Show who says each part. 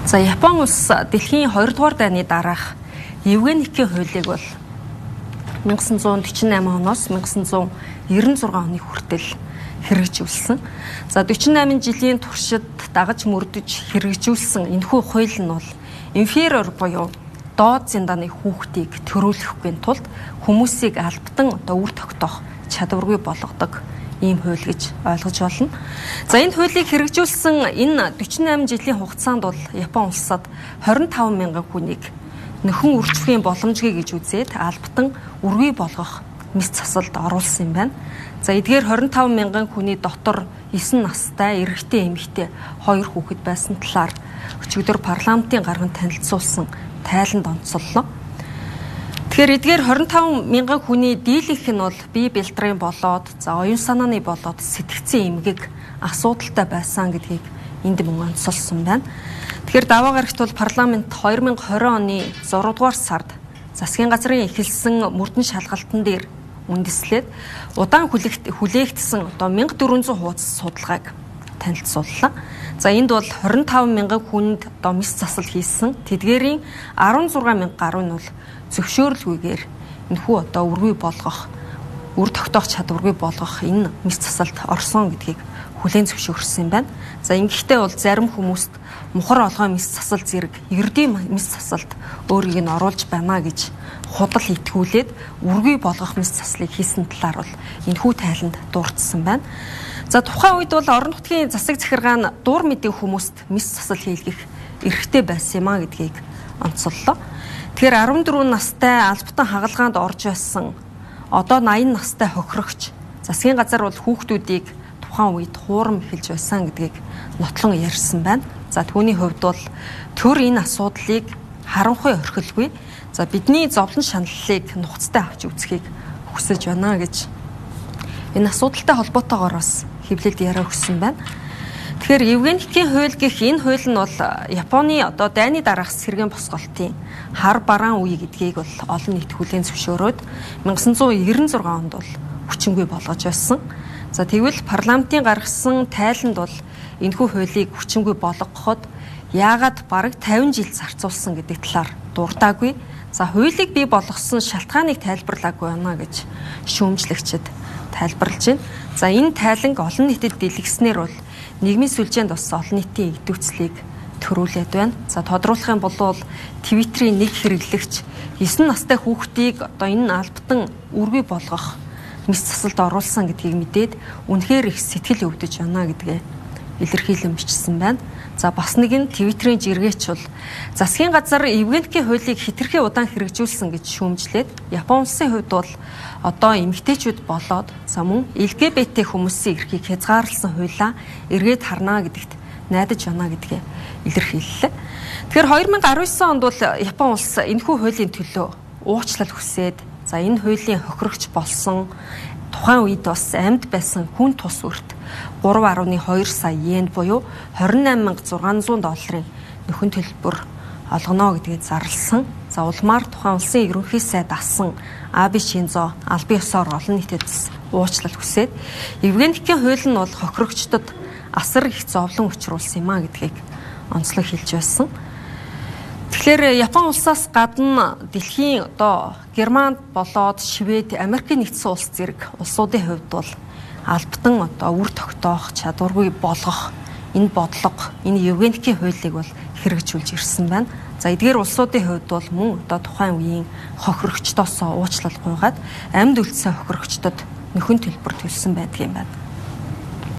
Speaker 1: За Япон улс дэлхийн 2 дугаар дайны дараах Евгеникийн хуулийг бол 1948 оноос 1996 оны хүртэл хэрэгжүүлсэн. За 48 жилийн туршид дагаж мөрдөж хэрэгжүүлсэн энэхүү хууль нь бол инферор буюу доод зиндааны хүүхдийг төрүүлэхгүй тулд хүмүүсийг албатан үр тогтоох чадваргүй болгодог ийм хууль гэж ойлгож болно. За энэ хуулийг хэрэгжүүлсэн энэ 48 жилийн хугацаанд бол Япон улсад 25 мянган хүнийг нөхөн үржихийн боломжгүй гэж үзээд албатан үргүй болгох мэс засалд оруулсан юм байна. За эдгээр 25 мянган хүний дотор 9 настай эрэгтэй эмэгтэй 2 хүүхэд байсан талаар өчигдөр парламентын гарган танилцуулсан тайланд онцоллоо. Тэгэхээр эдгээр 25 мянган хүний дийлэнх нь бол бие бэлтрийн болоод за оюун санааны болоод сэтгцэн эмгэг асуудалтай байсан гэдгийг энд мөн онцолсон байна. Тэгэхээр даваа гарагт бол парламент 2020 оны 6 дугаар сард засгийн газрын эхэлсэн мөрдөн шалгалтын дээр үндэслээд удаан хүлээгдсэн 1400 хуудас судалгааг танилцууллаа. За энд бол 25 мянган хүнд мэс засал хийсэн. Тэдгээрийн 16 мянга гаруй нь бол зөвшөөрлгүйгээр энэхүү үргүй болгох, үр тогтоох чадваргүй болгох энэ мэс засалд орсон гэдгийг хүлээн зөвшөөрсөн юм байна. За ингэхдээ бол зарим хүмүүст мухар олгой мэс засал зэрэг ердийн мэс засалд өөрийг нь оруулж байна гэж худал итгүүлээд үргүй болгох мэс заслыг хийсэн талаар бол энэхүү тайланд дурдсан байна. За тухайн үед бол орон нутгийн засаг захиргаа нь дур мэдээ хүмүүст мэс засал хийлгэх эрхтэй байсан юм а гэдгийг онцоллоо. Тэгэхээр 14 настай албатан хагалгаанд орж байсан одоо 80 настай хохирогч засгийн газар бол хүүхдүүдийг тухайн үед хуурам эхэлж байсан гэдгийг нотлон ярьсан байна. За түүний хувьд бол төр энэ асуудлыг харанхуй орхилгүй. За бидний зовлон шаналлыг нухацтай авч үзхийг хүсэж байна гэж энэ асуудалтай холбоотойгоор бас хэвлэлд яриа өгсөн байна. Тэгэхээр Евгеникийн хууль гэх энэ хууль нь бол Японы дайны дараах сэргээн босголтын хар бараан үе гэдгийг бол олон нийт хүлээн зөвшөөрөөд 1996 онд бол хүчингүй болгож байсан. За тэгвэл парламентын гаргасан тайланд бол энэхүү хуулийг хүчингүй болгоход яагаад бараг 50 жил зарцуулсан гэдэг талаар дуртаагүй. За хуулийг бий болгосон шалтгааныг тайлбарлаагүй байна гэж шүүмжлэгчид тайлбарлаж байна. За энэ тайланг олон нийтэд дэлгэснээр бол нийгмийн сүлжээнд бас олон нийтийн игдүүцлийг төрүүлээд байна. За тодруулах юм бол Твиттерийн нэг хэрэглэгч 9 настай хүүхдийг энэ албатан үргүй болгох мэс засалд оруулсан гэдгийг мэдээд үнэхээр их сэтгэл өвдөж байна гэдгээ илэрхийлэн бичсэн байна. За бас нэг нь Твиттерийн жиргээч бол засгийн газар Евгеникийн хуулийг хэтэрхий удаан хэрэгжүүлсэн гэж шүүмжлээд Япон улсын хувьд бол эмэгтэйчүүд болоод за мөн LGBT хүмүүсийн эрхийг хязгаарласан хуулиа эргээд харнаа гэдэгт найдаж байна гэдгээ илэрхийллээ. Тэгэхээр 2019 онд бол Япон улс энэхүү хуулийн төлөө уучлал хүсээд за энэ хуулийн хохирогч болсон тухайн үед бас амьд байсан хүн тус үрт 3.2 сая йен буюу $28,600 нөхөн төлбөр олгоно гэдгийг зарласан. За улмаар тухайн улсын ерөнхий сайд асан Абе Шинзо албан ёсоор олон нийтэд уучлал хүсээд Евгеникийн хууль нь бол хохирогчдод асар их зовлон учруулсан юм а гэдгийг онцлог хэлж байсан. Тэгэхээр Япон улсаас гадна дэлхийн Германд болоод Швед, Америкийн нэгдсэн улс зэрэг улсуудын хувьд бол албатан үр тогтоох чадваргүй болгох энэ бодлого, энэ Евгеникийн хуулийг бол хэрэгжүүлж ирсэн байна. За эдгээр улсуудын хувьд бол мөн тухайн үеийн хохирогчдоос уучлал гуйгаад амьд үлдсэн хохирогчдод нөхөн төлбөр төлсөн байдаг юм байна.